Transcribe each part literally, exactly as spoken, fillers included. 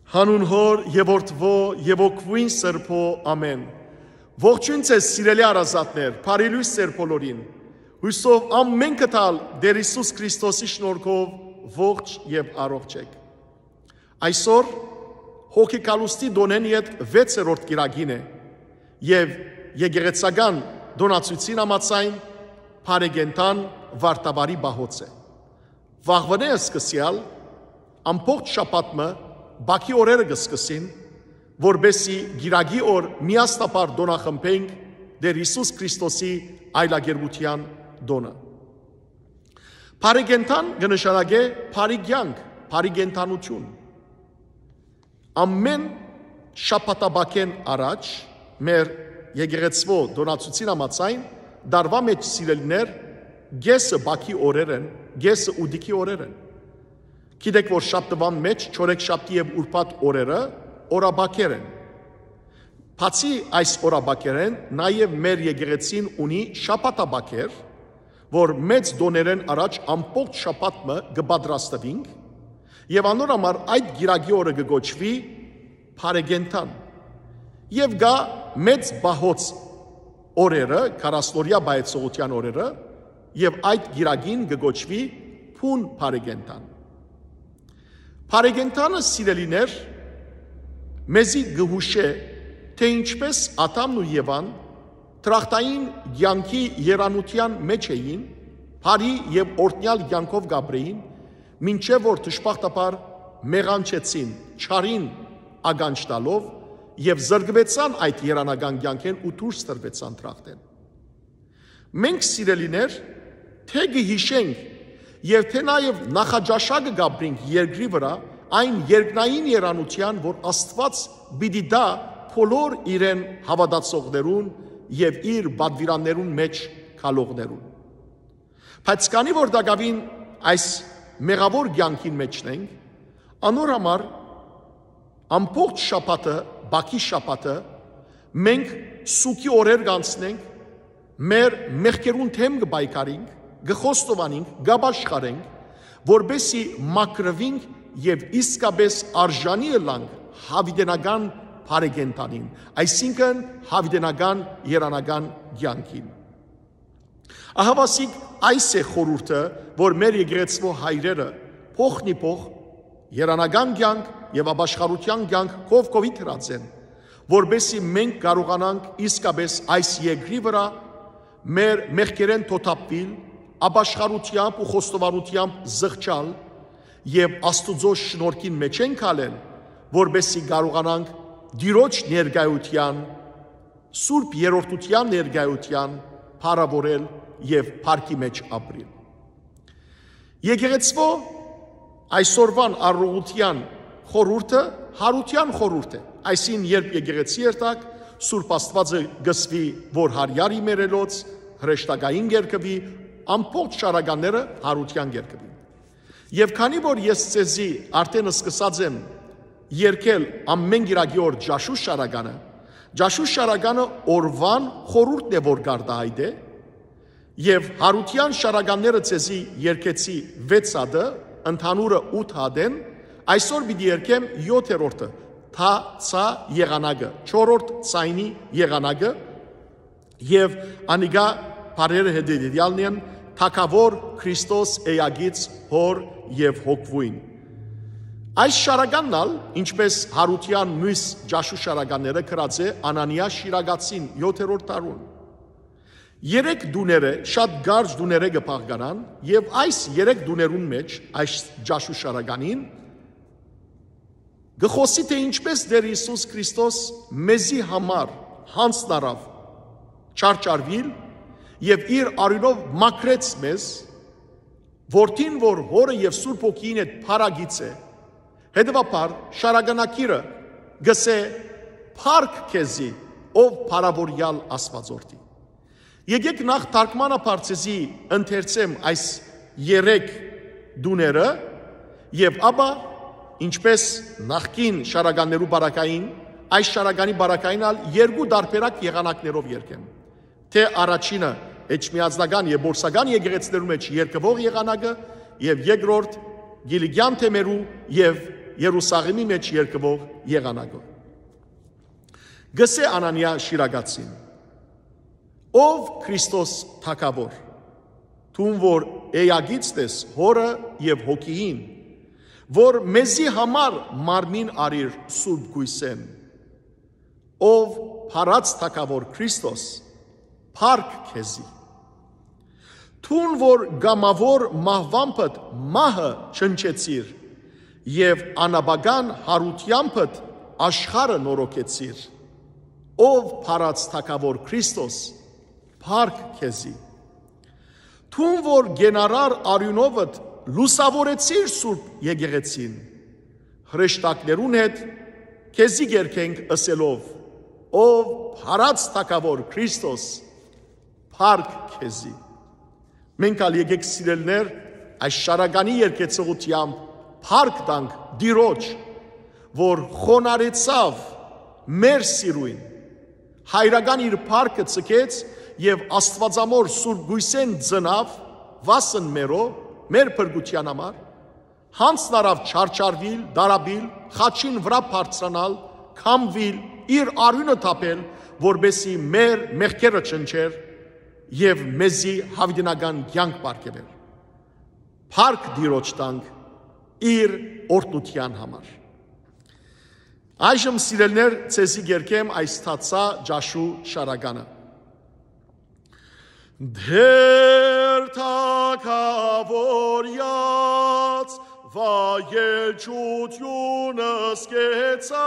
Հանուն Հօր եւ Որդւոյ եւ Հոգւոյն Սրբոյ, ամէն։ Ողջոյն ձեզ, սիրելի հարազատներ, բարի լոյս ձեր բոլորին։ Հոյսով ամէնքը թալ Տէր Յիսուս Քրիստոսի շնորհքով ողջ եւ առողջ եք։ Այսօր Հոգեկալուստի տօնէն ետք վեցերորդ կիրակին է եւ եկեղեցական տօնացոյցին համաձայն բարեկենդան Վարդավառի պահոց է։ Վաղուընէ սկսեալ ամբողջ շաբաթ մը բակի օրերը կը սկսին, որպէս զի կիրակի օր միասնաբար տօնախմբենք Տէր Յիսուս Քրիստոսի այլագերբութեան տօնը։ Բարեկենդան կը նշանակէ բարի կեանք, բարի կենդանութիւն։ Ամէն շաբաթաբակէն առաջ մեր եկեղեցւոյ տօնացոյցին համաձայն, տարուայ մէջ, սիրելիներ, կէսը բակի օրեր են, կէսը ուտիքի օրեր են։ Գիտէք, որ շաբթուան մէջ չորեքշաբթի եւ ուրբաթ օրերը օրաբակեր են։ Բացի այս օրաբակերէն, նաեւ մեր եկեղեցին ունի շաբաթաբակեր, որ մեծ տօներէն առաջ ամբողջ շաբաթ մը կը պատրաստուինք, եւ անոր համար այդ կիրակի օրը կը կոչուի բարեկենդան։ Եւ կայ մեծ պահոց օրերը, քառասնօրեայ պահեցողութեան օրերը, եւ այդ կիրակին կը կոչուի բուն բարեկենդան։ Բարեկենդանը, սիրելիներ, մեզի կը յուշէ, թէ ինչպէս Ադամն ու Եւան դրախտային կեանքի երանութեան մէջ էին, բարի եւ օրհնեալ կեանքով կ'ապրէին, մինչեւ որ դժբախտաբար մեղանչեցին, չարին ականջ տալով, եւ զրկուեցան այդ երանական կեանքէն ու դուրս տրուեցան դրախտէն։ Մենք, սիրելիներ, թէ կը յիշենք եւ թէ նաեւ նախաճաշակը կ'ապրենք երկրի վրայ, այն երկնային երանութեան, որ Աստուած պիտի տայ բոլոր իրեն հաւատացողներուն եւ իր պատուիրաններուն մէջ գալողներուն։ Բայց քանի որ տակաւին այս մեղաւոր կեանքին մէջն ենք, անոր համար ամբողջ շաբաթը, բակի շաբաթը, մենք սուգի օրեր կ'անցնենք, մեր մեղքերուն դէմ կը պայքարենք, կը խոստովանենք, կ'ապաշխարենք, որպէս զի մաքրուինք եւ իսկապէս արժանի ըլլանք յաւիտենական բարեկենդանին, այսինքն՝ յաւիտենական երանական կեանքին։ Ահաւասիկ այս է խորհուրդը, որ մեր եկեղեցւոյ հայրերը փոխնիփոխ երանական կեանք եւ ապաշխարութեան կեանք կով կովի դրած են, որպէս զի մենք կարողանանք իսկապէս այս երկրի վրայ մեր մեղքերէն թոթափուիլ, ապաշխարութեամբ ու խոստովանութեամբ զղջալ եւ Աստուծոյ շնորհքին մէջէն քալել, որպէս զի կարողանանք Տիրոջ ներկայութեան, Սուրբ Երրորդութեան ներկայութեան փառաւորել եւ փառքի մէջ ապրիլ։ Եկեղեցւոյ այսօրուան առողջութեան խորհուրդը յարութեան խորհուրդ է, այսինքն՝ երբ եկեղեցի երթաք, Սուրբ Աստուածը կ'ըսուի, որ Յարեարի մեռելոց հրեշտակային կ'երկուի, ամբողջ շարականները յարութեան կ'երկուին։ Եւ քանի որ ես ձեզի արդէն սկսած եմ երգել ամէն կիրակի օր Ճաշու շարականը, Ճաշու շարականը օրուան խորհուրդն է, որ կ'արտայայտէ, եւ յարութեան շարականները ձեզի երգեցի վեց հատը, ընդհանուրը ութ հատ են, այսօր պիտի երգեմ եթերորդը, թա, ցա եղանակը, չորրորդ ձայնի եղանակը, եւ անիկա բառերը հետեւեալն են. «Թագաւոր Քրիստոս էակից Հօր եւ Հոգուին»։ Այս շարականն ալ, ինչպէս յարութեան միւս Ճաշու շարականները, գրած է Անանիա Շիրակացին եթերորդ դարուն։ Երեք տուները շատ կարճ տուներէ կը բաղկանան, եւ այս երեք տուներուն մէջ, այս Ճաշու շարականին, կը խօսի, թէ ինչպէս Տէր Յիսուս Քրիստոս մեզի համար յանձնառաւ, չարչարուիլ եւ իր արիւնով մաքրեց մեզ, որդին, որ Հօրը եւ Սուրբ Հոգիին հետ փառագից է, հետեւաբար շարականակիրը կ'ըսէ. «Փառք քեզի, ով փառաւորեալ Աստուածորդի»։ Եկէք նախ թարգմանաբար ձեզի ընթերցեմ այս երեք տուները եւ ապա, ինչպէս նախկին շարականներու պարագային, այս շարականի պարագային ալ երկու տարբերակ եղանակներով երգեմ։ Թէ առաջինը էջմիածնական եւ պորսական եկեղեցիներու մէջ երգուող եղանակը եւ երկրորդ Կիլիկեան թեմերու եւ Երուսաղէմի մէջ երգուող եղանակը։ Կ'ըսէ Անանիա Շիրակացին. «Ով Քրիստոս թագաւոր, դուն որ էակից ես Հօրը եւ Հոգիին, որ մեզի համար մարմին արիր Սուրբ Գոյսէն, ով փառած թագաւոր Քրիստոս, փառք քեզի։ Դուն որ կամաւոր մահուամբդ մահը ջնջեցիր եւ անապական յարութեամբդ աշխարհը նորոգեցիր, ով փառած թագաւոր Քրիստոս, փառք քեզի։ Դուն որ կենարար արիւնովդ լուսաւորեցիր Սուրբ Եկեղեցին, հրեշտակներուն հետ քեզի կերգենք ըսելով. ով փառած թագաւոր Քրիստոս, փառք քեզի»։ Մենք ալ եկեք, սիրելիներ, այս շարականի երգեցողութեամբ փառք տանք Տիրոջ, որ խոնարհեցաւ մեր սիրոյն, հայրական իր փառքը ցկեց եւ Աստուածամոր Սուրբ Գոյսէն ծնաւ վասն մերո, մեր փրկութեան համար, յանձն առաւ չարչարուիլ, դարաբիլ, խաչին վրայ բարձրանալ, քամուիլ, իր արիւնը թափել, որպէսզի մեր մեղքերը ջնջէր եւ մեզի յաւիտենական կեանք պարգեւէր։ Փառք Տիրոջ տանք իր օրհնութեան համար։ Այժմ, սիրելիներ, ձեզի կերգեմ այս թացայ ճաշու շարականը։ Տէր թագաւորեաց վայելչութիւնս կեցաւ,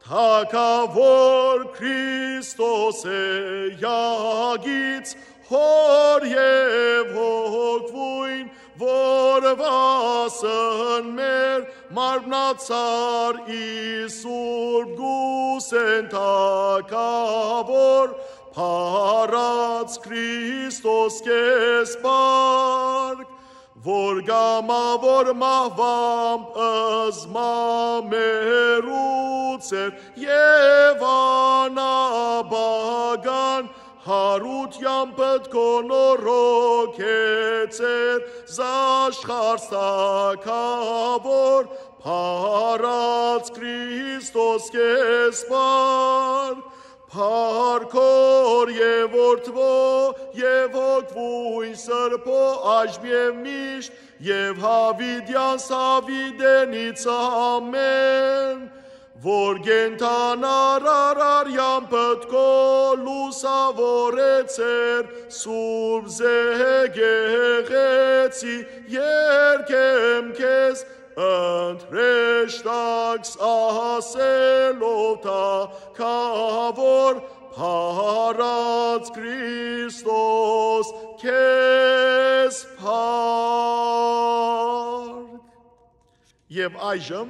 թագաւոր Քրիստոս էակից Հօր եւ Հոգւոյն, որ վասն մեր մարմնացար ի Սուրբ Գուսեն թագաւոր, փառած Քրիստոս քեզ փառք, որ կամաւոր մահուամբ զմամերուց էր եւ անապական յարութեամբդ քո նորոգեցեր զաշխարհ թագաւոր, փառած Քրիստոս քեզ փառք, փառք Հօր եւ Որդւոյ եւ Հոգւոյն Սրբոյ, այժմ եւ միշտ, եւ յաւիտեանց յաւիտենից, ամէն, որ կենդանար արարեամբդ քո լուսաւորեցեր Սուրբ Եկեղեցի, երգեմ քեզ ընթրեշտակս ասելով թագաւոր, փառած Քրիստոս քեզ փառք։ Եւ այժմ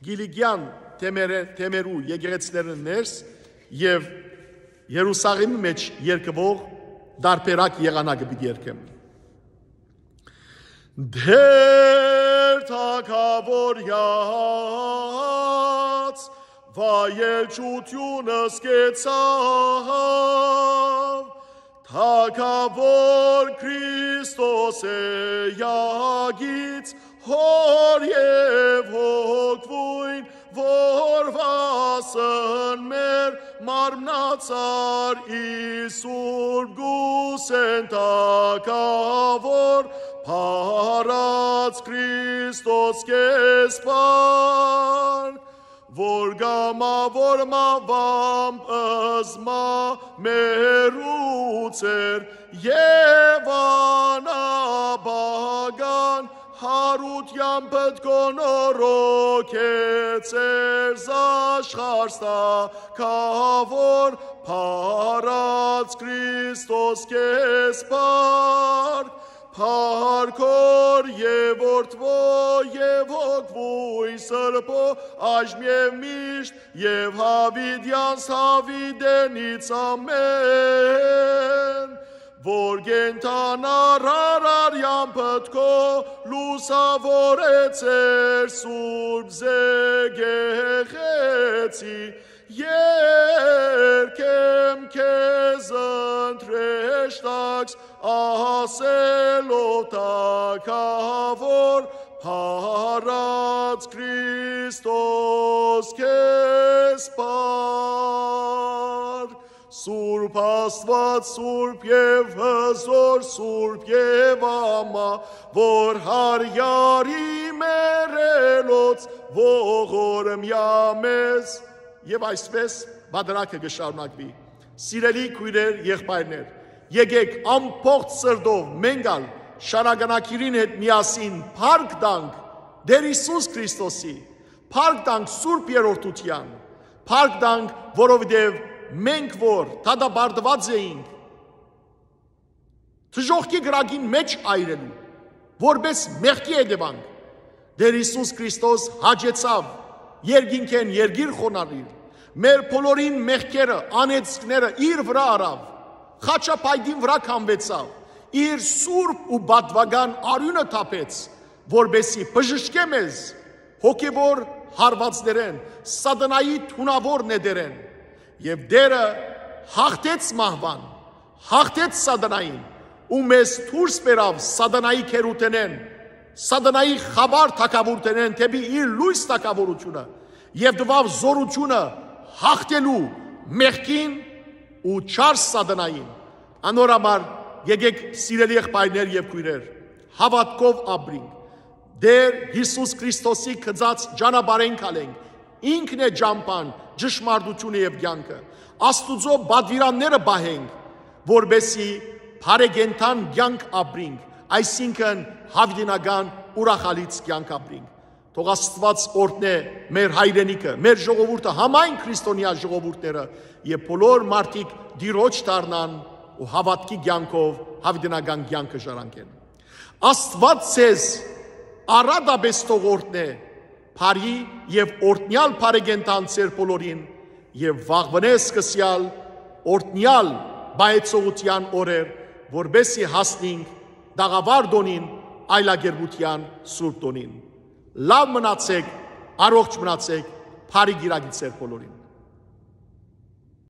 Կիլիկեան թեմերը, թեմերու եկեղեցիներուն ներս եւ Երուսաղէմի մէջ երգուող տարբերակ եղանակը պիտի երգեմ։ Տէր թագաւորեաց վայելչութիւնս կեցաւ, թագաւոր Քրիստոս էակից Հօր եւ Հոգւոյն, որ վասն մեր մարմնացար ի Սուրբ Գուսեն թագաւոր, փառած Քրիստոս քեզ փառք, որ կամաւոր մահուամբ զմամերուց էր եւ անապական յարութեամբդ քո նորոգեցեր զաշխարհ թագաւոր, փառած Քրիստոս քեզ փառք, փառք Հօր եւ Որդւոյ եւ Հոգւոյն Սրբոյ, այժմ եւ միշտ, եւ յաւիտեանց յաւիտենից, ամէն, որ կենդանար արարեամբդ քո լուսաւորեցեր Սուրբ Եկեղեցի, երգեմ քեզ ընթրեշտակս Ասելով թագաւոր, փառած Քրիստոս քեզ փառ։ Սուրբ Աստուած, սուրբ եւ հզոր, սուրբ եւ ամա, որ հարիարի մեռելոց ողորմյա մեզ։ Եւ այսպես պատրակը կը շարունակուի։ Սիրելի քոյրեր, եղբայրներ, եկեք ամբողջ սրտով մենք ալ շարականակիրին հետ միասին փառք տանք Տեր Յիսուս Քրիստոսի, փառք տանք Սուրբ Երրորդութեան, փառք տանք, որովհետեւ մենք որ դատապարտուած էինք դժոխքի կրակին մէջ այրելու, որպէս մեղքի հետեւանք, Տեր Յիսուս Քրիստոս հաճեցաւ երկինքէն երկիր խոնարհիլ, մեր բոլորին մեղքերը, անեծքները իր վրայ առաւ, խաչապայտին վրայ քամուեցաւ, իր սուրբ ու պատուական արիւնը թափեց, որպէսզի բժշկէ մեզ հոգեւոր հարվածներէն, սատանայի թունաւոր նետերէն։ Եւ Տերը հաղթեց մահուան, հաղթեց սատանային ու մեզ դուրս բերաւ սատանայի գերութենէն, սատանայի խաբար թագաւորութենէն դէպի իր լոյս թագաւորութիւնը եւ տուաւ զօրութիւնը հաղթելու մեղքին ու չար սատանային։ Անոր համար եկեք, սիրելի եղբայրներ եւ քոյրեր, հաւատքով ապրինք, Տեր Յիսուս Քրիստոսի գծած ճանապարհէն քալենք, ինքն է ճամբան, ճշմարտութիւնը եւ կեանքը։ Աստուծոյ պատուիրանները պահենք, որպէսզի բարեկենդան կեանք ապրինք, այսինքն՝ յաւիտենական ուրախալից կեանք ապրինք։ Թող Աստուած օրհնէ մեր հայրենիքը, մեր ժողովուրդը, համայն քրիստոնեայ ժողովուրդները, եւ բոլոր մարդիկ Տիրոջ դառնան ու հաւատքի կեանքով յաւիտենական կեանքը ժառանգեն։ Աստուած ձեզ առատապէս թող օրհնէ բարի եւ օրհնեալ բարեկենդան ձեր բոլորին եւ վաղուընէ սկսեալ օրհնեալ պահեցողութեան օրեր, որպէսզի հասնինք տաղաւար տօնին, այլակերպութեան սուրբ տօնին։ Լաւ մնացէք, առողջ մնացէք, բարի կիրակի ձեր բոլորին։